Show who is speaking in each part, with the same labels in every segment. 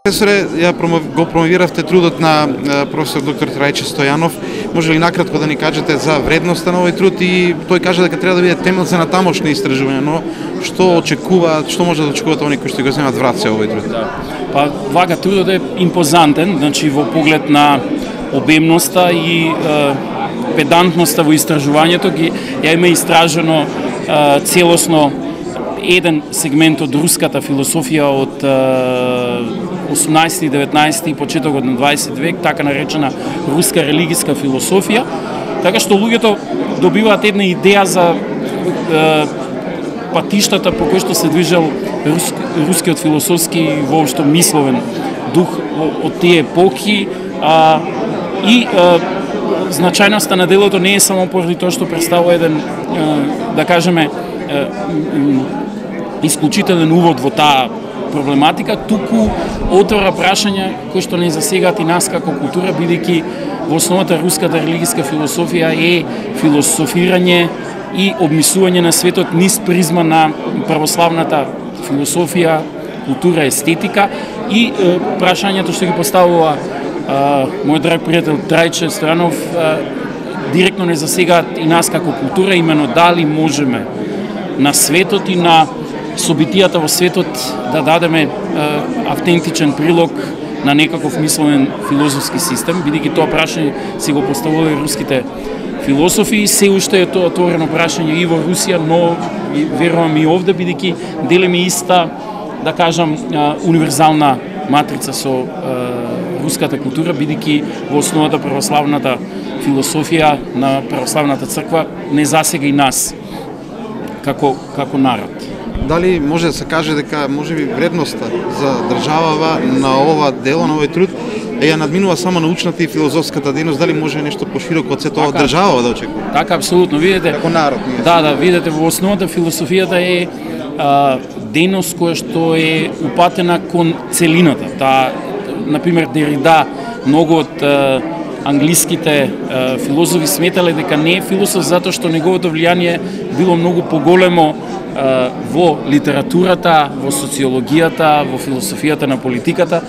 Speaker 1: Професоре, го промовиравте трудот на професор доктор Трајче Стојанов. Може ли накратко да ни кажете за вредноста на овој труд и тој кажа дека треба да биде темел за натамошни истражувања, но што очекуваат, што може да очекуваат оние кои што го земат враце овој труд?
Speaker 2: Да. Па вака трудот е импозантен, значи во поглед на обемноста и педантноста во истражувањето ја има истражено целосно еден сегмент од руската философија од 18, 19 и почетокот на 20 век, така наречена руска религиска философија, така што луѓето добиваат една идеја за патиштата по кои што се движел рускиот философски и воопшто мисловен дух од тие епохи, и значајноста на делото не е само поради тоа што представува еден, да кажеме, исклучителен увод во таа проблематика, туку отвора прашања кои што не засегаат и нас како култура, бидејќи во основата руската религиска философија е философирање и обмислување на светот низ призма на православната философија, култура, естетика и прашањето што ги поставува мој драг пријател Трајче Стојанов директно не засегаат и нас како култура, имено дали можеме на светот и на собитијата во светот да дадеме автентичен прилог на некаков мисловен филозофски систем, бидејќи тоа прашање си го поставувале руските философи и се уште е тоа отворено прашање и во Русија, но верувам и овде, бидејќи делиме иста, да кажам, универзална матрица со руската култура, бидејќи во основата православната философија на православната црква не засега и нас како народ.
Speaker 1: Дали може да се каже дека можеби вредноста за државава на ова дело, на овој труд, ја надминува само научната и филозофската дейност, дали може нешто пошироко од сето државава да очекува?
Speaker 2: Така, апсолутно, видите.
Speaker 1: Како народ ние.
Speaker 2: Да, видите, во основата философијата е дејност која што е упатена кон целината. Таа, например, Дерида, многу од англиските филозофи сметале дека не е философ затоа што неговото влијание било многу поголемо во литературата, во социологијата, во философијата на политиката,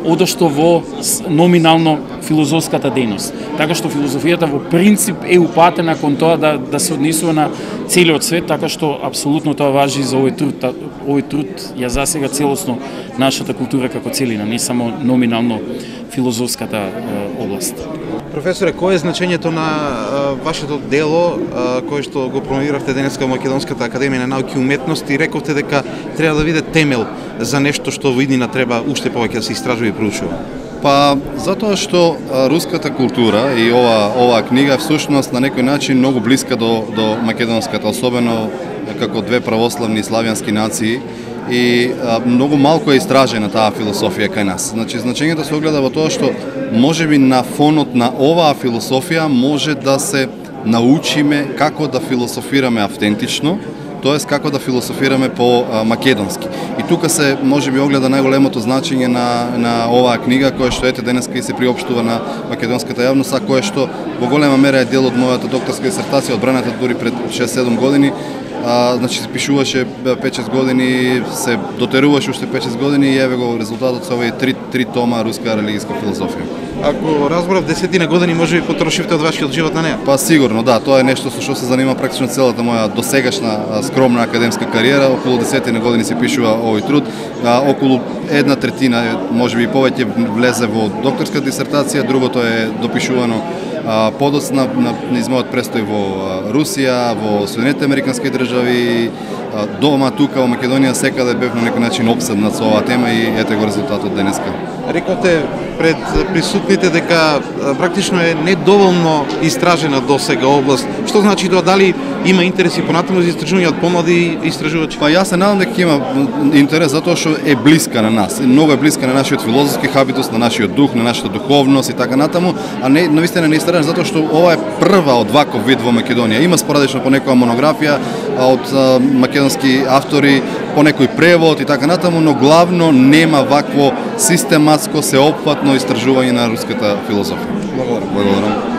Speaker 2: одошто во номинално филозофската дејност. Така што филозофијата во принцип е упатена кон тоа да се однесува на целиот свет, така што апсолутно тоа важи за овој труд. Овој труд ја засега целосно нашата култура како целина, не само номинално филозофската област.
Speaker 1: Професоре, кое е значењето на вашето дело, кое што го промовиравте денеска во Македонската академија на науки и уметности, и рековте дека треба да биде темел за нешто што во иднина треба уште повеќе да се истражува и проучува?
Speaker 3: Па, затоа што руската култура и оваа книга всушност на некој начин многу блиска до македонската, особено како две православни славјански нации, и многу малку е истражена таа философија кај нас. Значи, значењето се огледа во тоа што можеби на фонот на оваа философија може да се научиме како да философираме автентично, тоест како да философираме по македонски. И тука се можеби огледа најголемото значење на оваа книга, која што ете денеска и се приопштува на македонската јавност, а која што во голема мера е дел од мојата докторска дисертација, одбраната дури пред 6-7 години. Значи се пишуваше 5-6 години, се дотеруваше уште 5-6 години и еве го резултатот со овие 3 тома руска религиска филозофија.
Speaker 1: Ако разборав 10 години, може би потрошивте од вашиот живот на неа?
Speaker 3: Па сигурно, да, тоа е нешто со што се занима практично целата моја досегашна скромна академска кариера. Околу 10 години се пишува овој труд, околу 1/3, може би повеќе влезе во докторска дисертација, другото е допишувано подоцна на измојот престој во Русија, во Соединетите американски држави, дома тука во Македонија секаде бев на некој начин опседнат со оваа тема и ете го резултатот денеска.
Speaker 1: Рековте пред присутните дека практично е недоволно истражена досега област. Што значи тоа, дали има интереси понатаму за истражување од помлади истражувачи?
Speaker 3: Па јас се надам дека има интерес затоа што е блиска на нас. Многу е блиска на нашиот филозофски хабитус, на нашиот дух, на нашата духовност и така натаму, а не навистина не истражена затоа што ова е прва од ваков вид во Македонија. Има спорадично по некоја монографија од македонски автори, по некој превод и така натаму, но главно нема вакво систематско, сеопфатно истражување на руската филозофија.
Speaker 1: Благодарам.
Speaker 3: Благодарам.